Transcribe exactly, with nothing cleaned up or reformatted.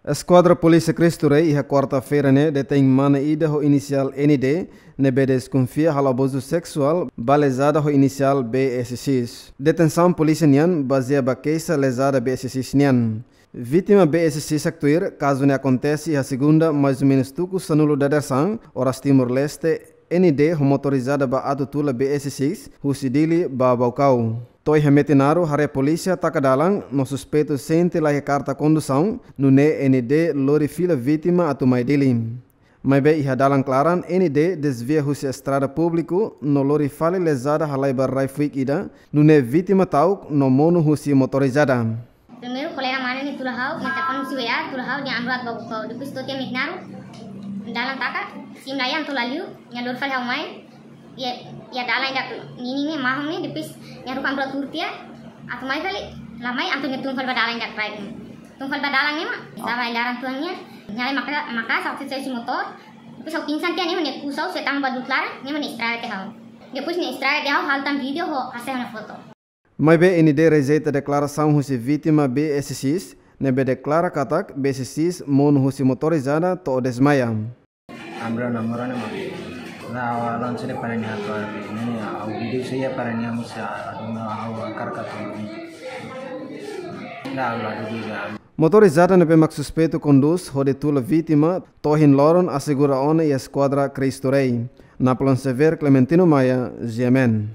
Eskuadra Polísia Cristo Rei iha kuarta-feira ne'e detein mane ida ho inisiál N D, ne'ebé deskonfia halo abuzu seksuál ba lezada ho inisiál B S X. Detensaun polísia nian bazeia ba keixa lezada B S X nian. Vítima B S X haktuir, kazu ne'e akontese iha segunda, mais ou menus tuku sanulu dadeer-saan, oras Timor-Leste, N D ho motorizada bá atu tula B S X husi Dili ba Baucau. To'o iha Metinaro, haree polísia taka dalan no suspeitu sente la iha karta kondusaun, nune'e N D lori fila vítima atu mai Dili. Maibé iha dalan klaran, N D dezvia husi estrada públiku no lori fali lezada halai ba rai-fuik ida, nune'e vítima ta'uk no monu husi motorizada. Primeiru, kolega mane ne'e tula ha'u, nia telefone husi W A, tula ha'u, nia ami rua atu bá Baucau. Depois to'o tiha Metinaro, dalan taka, sim la iha, atu la liu, nia lori fali ha'u mai. Iha, iha dalan ida ninin ne'e, mahon ne'e, depois nia haruka ami rua tuur tiha, atu mai fali, la mai, entaun nia tun fali ba dalan ida rai ne'e. Tun fali ba dalan ne'e mak, estava iha laran tuan nian, nia lai maka, maka, ha'u sa'e husi motór, depois ha'u pingsan tiha ne'e mak nia kusa ha'u, sei tama ba du'ut laran, ne'e mak nia estraga tiha ha'u. Depois nia estraga tiha ha'u, halo tan vídeo ho hasil nia foto. Maibé N D rejeita deklarasaun husi vítima B S X, ne'ebé deklara katak B S X monu husi motorizada to'o dezmaia. Ami rua namora ne'e mak. La, ha'u la lansa de'it para nia atu, ne'e, ha'u vídeo saida para nia mós, atu ha'u hakarak atu. La, la, la, la. Motorizada ne'ebé mak suspeitu kondús hodi tula vítima, to'o ohin loron asegura ona iha Eskuadra Cristo Rei. Napoleon Xavier, Clementino Maia, G M N.